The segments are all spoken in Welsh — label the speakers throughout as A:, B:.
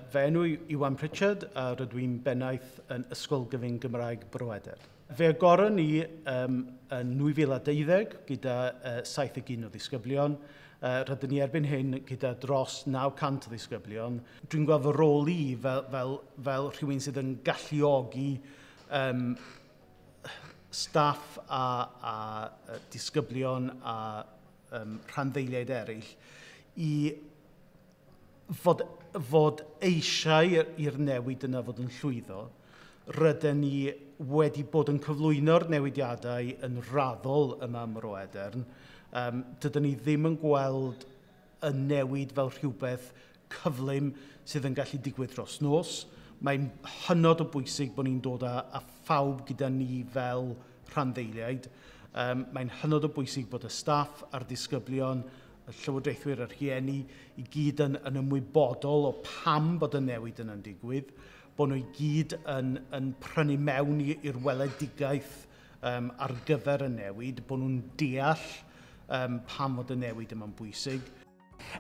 A: Fy enw i Iwan Pritchard a rydw i'n bennaeth yn Ysgol Gyfun Gymraeg Bro Edern. Fe agoron ni yn 2012 gyda 71 o ddisgyblion. Rydyn ni erbyn hyn gyda dros 900 o ddisgyblion. Dwi'n gweld fy rôl i fel rhywun sydd yn galluogi staff a disgyblion a rhanddeiliaid eraill i fod eisiau i'r newid yna fod yn llwyddo. Rydyn ni wedi bod yn cyflwyno'r newidiadau yn raddol yma ym Mro Edern. Dydyn ni ddim yn gweld y newid fel rhywbeth cyflym sydd yn gallu digwydd dros nos. Mae'n hynod o bwysig bod ni'n dod â phawb gyda ni fel rhanddeiliaid. Mae'n hynod o bwysig bod y staff a'r disgyblion, y llywodraethwyr a'r rhieni i gyd yn ymwybodol o pam bod y newid yna'n digwydd, bod nhw i gyd yn prynu mewn i'r weledigaeth ar gyfer y newid, bod nhw'n deall pam fod y newid yma'n bwysig.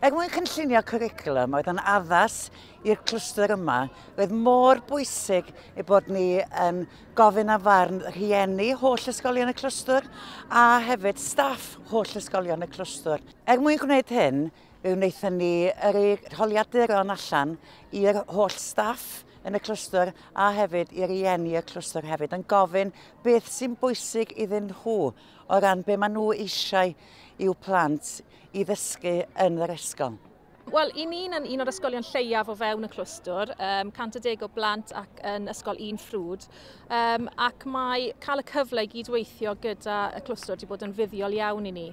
B: Er mwyn cynllunio cwricwlwm oedd yn addas i'r clwstwr yma, roedd mor bwysig ei bod ni yn gofyn am farn rhieni holl ysgolion y clwstwr a hefyd staff holl ysgolion y clwstwr. Er mwyn gwneud hyn, fe wnaethon ni yrru holiaduron allan i'r holl staff yn y clwstwr a hefyd i rieni y clwstwr hefyd yn gofyn beth sy'n bwysig iddyn nhw o ran be maen nhw eisiau i'w plant i ddysgu yn yr ysgol.
C: Wel, i ni'n yn un o'r ysgolion lleiaf o fewn y clwstwr, 110 o blant ac yn ysgol un ffrwd, ac mae cael y cyfle i gydweithio gyda y clwstwr wedi bod yn fuddiol iawn i ni.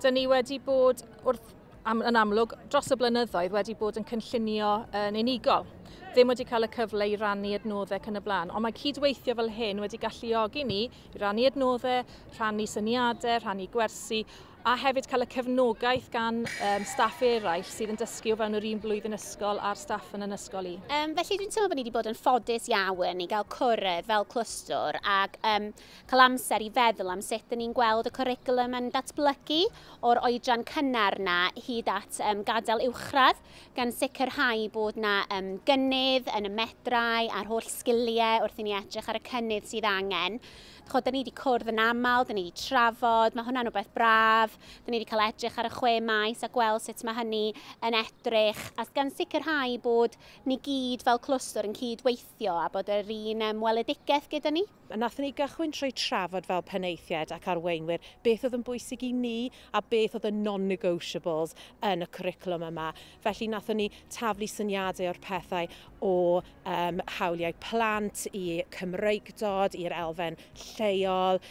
C: Dyn ni wedi bod yn amlwg dros y blynyddoedd wedi bod yn cynllunio yn unigol. Ddim wedi cael y cyfle i rannu adnoddau ac yn y blaen, ond mae cydweithio fel hyn wedi galluogi ni i rannu adnoddau, rhannu syniadau, rhannu gwersi, a hefyd cael y cefnogaeth gan staff eraill sydd yn dysgu o fewn yr un blwyddyn ysgol a'r staff yn ysgol i.
D: Felly dwi'n teimlo bod ni wedi bod yn ffodus iawn i gael cwrdd fel clwstwr ac cael amser i feddwl am sut dyn ni'n gweld y cwricwlwm yn datblygu o'r oedran cynnar na hyd at gadael uwchradd, gan sicrhau bod na gynnydd yn y medrau a'r holl sgiliau wrth i ni edrych ar y cynnydd sydd angen. Dyn ni wedi cwrdd yn aml, dyn ni wedi trafod, mae hwnna'n rhywbeth braf. Dyn ni wedi cael edrych ar y 6 maes a gweld sut mae hynny yn edrych, a gan sicrhau bod ni gyd fel clwstwr yn cydweithio a bod yr un weledigaeth gyda ni.
E: Nathon ni gychwyn trwy trafod fel penaethiaid ac arweinwyr beth oedd yn bwysig i ni a beth oedd y non-negotiables yn y cwricwlwm yma. Felly nathon ni taflu syniadau o'r pethau o hawliau plant i Cymreigdod, i'r elfen lleol,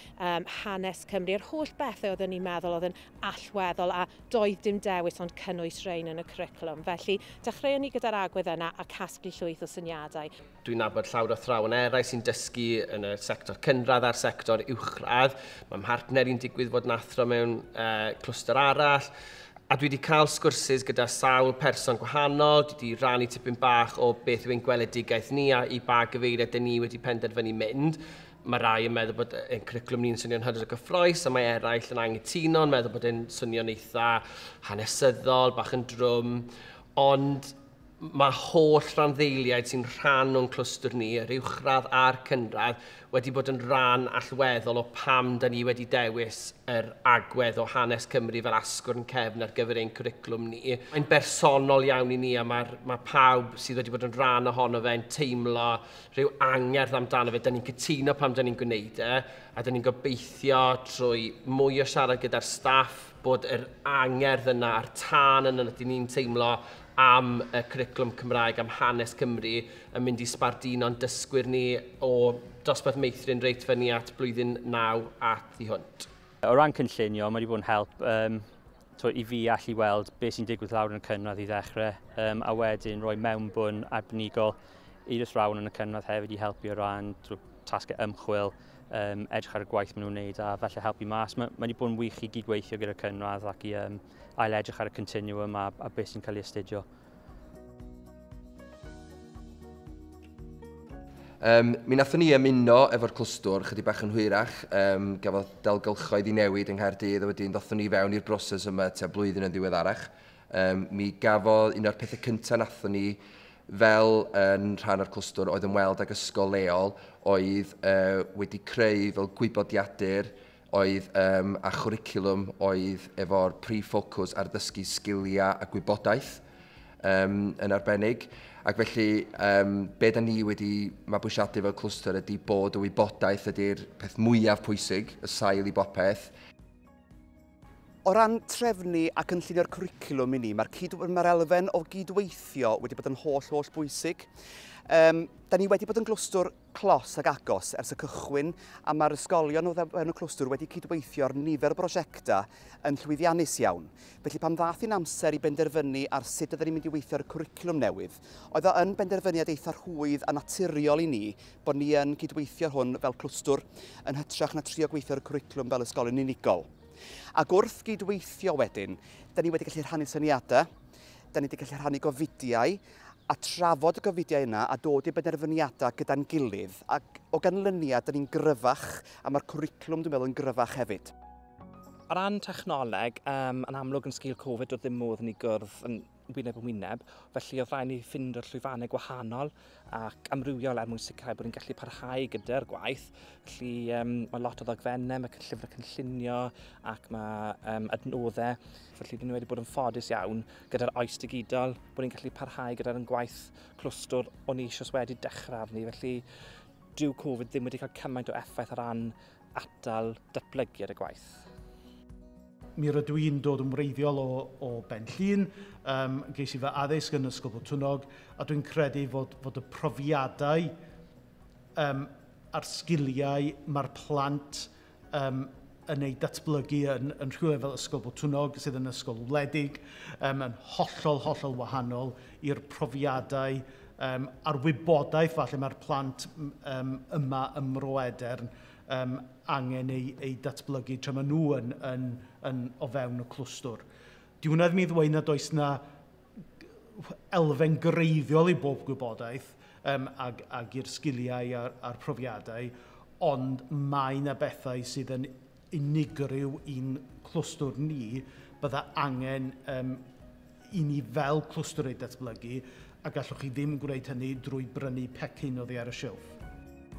E: hanes Cymru, yr holl bethau oedden ni'n meddwl oedd yn allweddol a doedd dim dewis ond cynnwys rhain yn y cwricwlwm. Felly dechreuon ni gyda'r agwedd yna a casglu llwyth o syniadau.
F: Dwi'n nabod llawer o athrawon eraill sy'n dysgu yn y sector cynradd a'r sector uwchradd. Mae mhartner i'n digwydd fod yn athro mewn clwstwr arall. A dwi wedi cael sgwrsys gyda sawl person gwahanol, dwi wedi rannu tipyn bach o beth yw ein gweledigaeth ni a i ba gyfeiriad dyn ni wedi penderfynu mynd. Mae rai yn meddwl bod ein cwricwlwm ni'n swnio'n hynod o gyffrous, a mae eraill yn anghytuno, yn meddwl bod e'n swnio'n eitha hanesyddol, bach yn drwm. Ond mae holl rhanddeiliaid sy'n rhan o'n clwstwr ni, yr uwchradd a'r cynradd, wedi bod yn rhan allweddol o pam da ni wedi dewis yr agwedd o hanes Cymru fel asgwrn cefn ar gyfer ein cwricwlwm ni. Mae'n bersonol iawn i ni a mae pawb sydd wedi bod yn rhan ohono fe'n teimlo rhyw angerdd amdano fe. Da ni'n cytuno pam da ni'n gwneud e, a da ni'n gobeithio trwy mwy o siarad gyda'r staff bod yr angerdd yna a'r tân yna dyn ni'n teimlo am y cwricwlwm Cymraeg, am hanes Cymru, yn mynd i sbarduno'n dysgwyr ni o dosbarth meithrin reit fyny at blwyddyn 9 a thu hwnt.
G: O ran cynllunio, mae wedi bod yn help i fi allu weld beth sy'n digwydd lawr yn y cynradd i ddechrau, a wedyn rhoi mewnbwn arbenigol i'r athrawon yn y cynradd hefyd i helpu o ran tasgau ymchwil, edrych ar y gwaith maen nhw'n wneud a felly helpu mas. Mae wedi bod yn wych i gydweithio gyda'r cynradd ac i ail edrych ar y continuum a beth sy'n cael ei astudio.
H: Mi nathon ni ymuno efo'r clwstwr chydig bach yn hwyrach, gafodd dalgylchoedd i newid yng Nghaerdydd a wedyn ddothon ni fewn i'r broses yma tua blwyddyn yn ddiweddarach. Mi gafodd un o'r pethau cyntaf nathon ni fel yn rhan o'r clwstwr oedd ymweld ag ysgol leol oedd wedi creu fel gwybodiadur oedd a chwricwlwm oedd efo'r prif ffocws ar ddysgu sgiliau a gwybodaeth yn arbennig. Ac felly, be da ni wedi mabwysiadu fel clwstwr ydy bod y wybodaeth ydy'r peth mwyaf pwysig, y sail i bopeth.
I: O ran trefnu ac cynllunio'r cwricwlwm i ni, mae'r elfen o gydweithio wedi bod yn holl bwysig. Da ni wedi bod yn glwstwr clos ac agos ers y cychwyn, a mae'r ysgolion o fewn y clwstwr wedi cydweithio ar nifer o brosiectau yn llwyddiannus iawn. Felly pan ddath hi'n amser i benderfynu ar sut ydyn ni'n mynd i weithio ar y cwricwlwm newydd, oedd o yn benderfyniad eitha rhwydd a naturiol i ni bod ni yn cydweithio hwn fel clwstwr yn hytrach na trio gweithio ar y cwricwlwm fel ysgolion unigol. Ac wrth gydweithio wedyn, da ni wedi gallu rhannu syniadau, da ni wedi gallu rhannu gofidiau, a trafod y gofidiau yna a dod i benderfyniadau gyda'n gilydd. Ac o ganlyniad, da ni'n gryfach, a mae'r cwricwlwm, dwi'n meddwl, yn gryfach hefyd.
J: O ran technoleg, yn amlwg yn sgil Covid, oedd ddim modd ni gwrdd yn wyneb yn wyneb, felly oedd rhaid ni ffindio'r llwyfannau gwahanol ac amrywiol er mwyn sicrhau bod ni'n gallu parhau gyda'r gwaith. Felly mae lot o ddogfennau, mae llyfrau cynllunio ac mae adnoddau. Felly dyn ni wedi bod yn ffodus iawn gyda'r oes digidol, bod ni'n gallu parhau gyda'r gwaith clwstwr o'n i eisoes wedi dechrau arni. Felly dyw Covid ddim wedi cael cymaint o effaith o ran atal datblygiad y gwaith.
A: Mi rydw i'n dod yn wreiddiol o Ben Llŷn, ges i fy addysg yn Ysgol Botwnnog, a dwi'n credu fod y profiadau a'r sgiliau mae'r plant yn ei datblygu yn rhywle fel Ysgol Botwnnog, sydd yn ysgol wledig, yn hollol wahanol i'r profiadau a'r wybodaeth falle mae'r plant yma ym Mro Edern angen ei datblygu tra maen nhw yn o fewn y clwstwr. Di hwnna ddim i ddweud nad oes na elfen greiddiol i bob gwybodaeth ag i'r sgiliau a'r profiadau, ond mae yna bethau sydd yn unigryw i'n clwstwr ni, bydda angen i ni fel clwstwr ei datblygu, a gallwch chi ddim gwneud hynny drwy brynu pecyn oddi ar y silff.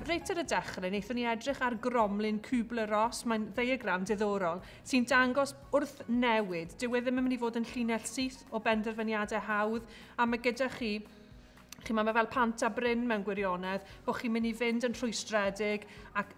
K: Reit ar y dechrau, wnaethon ni edrych ar gromlin Kübler-Ross, mae'n ddiagram diddorol, sy'n dangos wrth newid. Dyw e ddim yn mynd i fod yn llinell syth o benderfyniadau hawdd, a mae gyda chi, mae fel pant a bryn mewn gwirionedd, bod chi'n mynd i fynd yn rhwystredig ac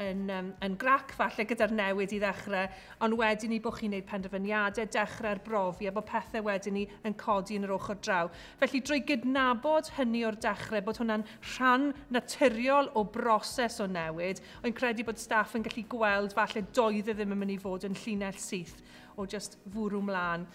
K: yn grac falle gyda'r newid i ddechrau, ond wedyn ni bod chi'n gwneud penderfyniadau, dechrau'r brofi a bod pethau wedyn ni yn codi yn yr ochr draw. Felly drwy gydnabod hynny o'r dechrau, bod hwnna'n rhan naturiol o broses o newid, o'n credu bod staff yn gallu gweld falle doedd e ddim yn mynd i fod yn llinell syth o just fwrw mlaen.